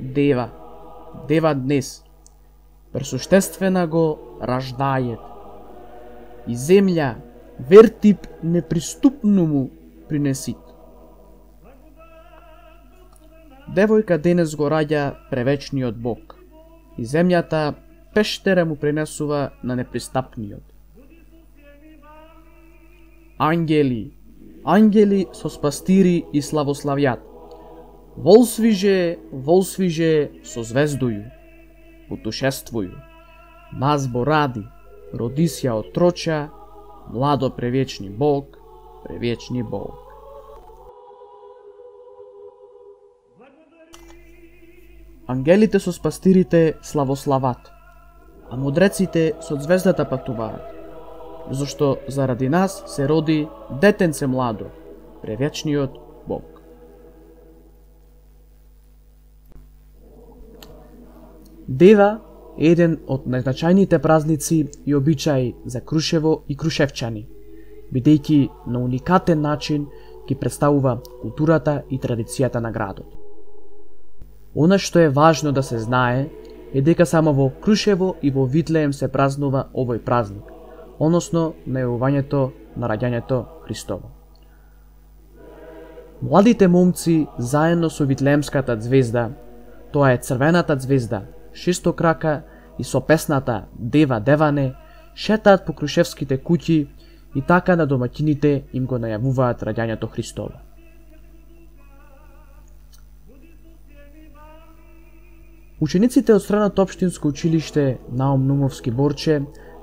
дева, дева днес, пресуштествена го раждајет, и земја вертип неприступну му принесит. Девојка денес го раѓа превечниот Бог, и земјата пештера му принесува на непристапниот. Ангели, ангели со спастири и славославјат, волсвиже, волсвиже со звездују, путешествују, нас боради, роди се отроча, младо превечни Бог, превечни Бог. Ангелите со спастирите славослават, а мудреците со звездата патуваат, зашто заради нас се роди детенце младо, превечниот Бог. Дева е еден од најзначајните празници и обичаи за Крушево и крушевчани, бидејќи на уникатен начин ги представува културата и традицијата на градот. Она што е важно да се знае е дека само во Крушево и во Витлеем се празнува овој празник, односно најавувањето на раѓањето Христово. Младите момци заедно со Витлеемската звезда, тоа е црвената звезда, шестокрака и со песната Дева Деване, шетаат по крушевските куќи и така на домаќините им го најавуваат раѓањето Христово. Учениците од Средното општинско училиште Наум Нумовски Борче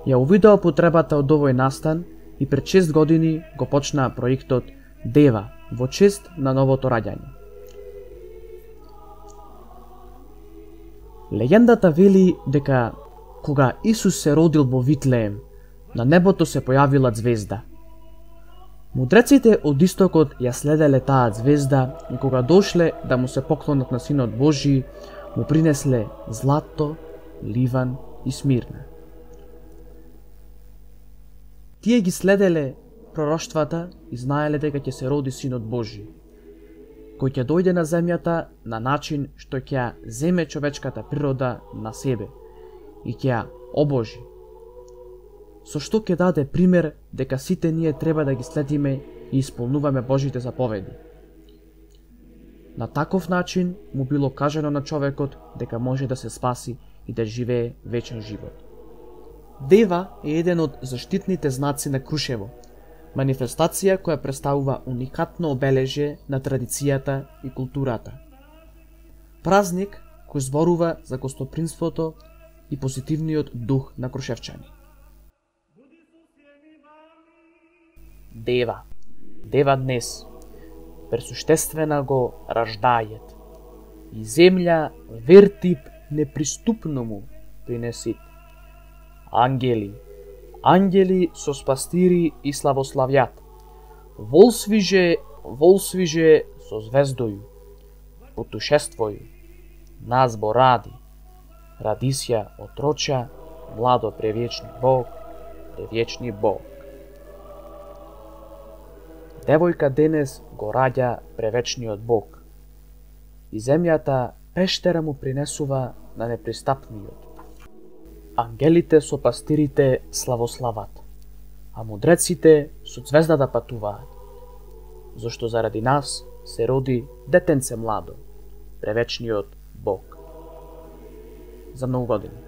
ја увидоа потребата од овој настан и пред 6 години го почнаа проектот Дева во чест на новото раѓање. Легендата вели дека кога Исус се родил во Витлеем, на небото се појавила звезда. Мудреците од истокот ја следеле таа звезда и кога дошле да му се поклонат на Синот Божи, му принесле злато, ливан и смирна. Тие ги следеле пророштвата и знаеле дека ќе се роди Синот Божи, кој ќе дојде на земјата на начин што ќе ја земе човечката природа на себе и ќе ја обожи, со што ќе даде пример дека сите ние треба да ги следиме и исполнуваме Божите заповеди. На таков начин му било кажано на човекот дека може да се спаси и да живее вечен живот. Дева е еден од заштитните знаци на Крушево, манифестација која представува уникатно обележје на традицијата и културата. Празник кој зборува за гостопримството и позитивниот дух на крушевчани. Дева, дева днес, пресуштествена го раждајет, и земја вертип неприступно му принесит. Ангели, ангели со спастири и славославјат, волсвиже, волсвиже со звездоју, путешествоју, нас боради, ради се отроча, младо превечни Бог, превечни Бог. Девојка денес го раѓа превечниот Бог, и земјата пештера му принесува на непристапниот. Ангелите со пастирите славослават, а мудреците со звездата патуваат, зашто заради нас се роди детенце младо, превечниот Бог. За многу години.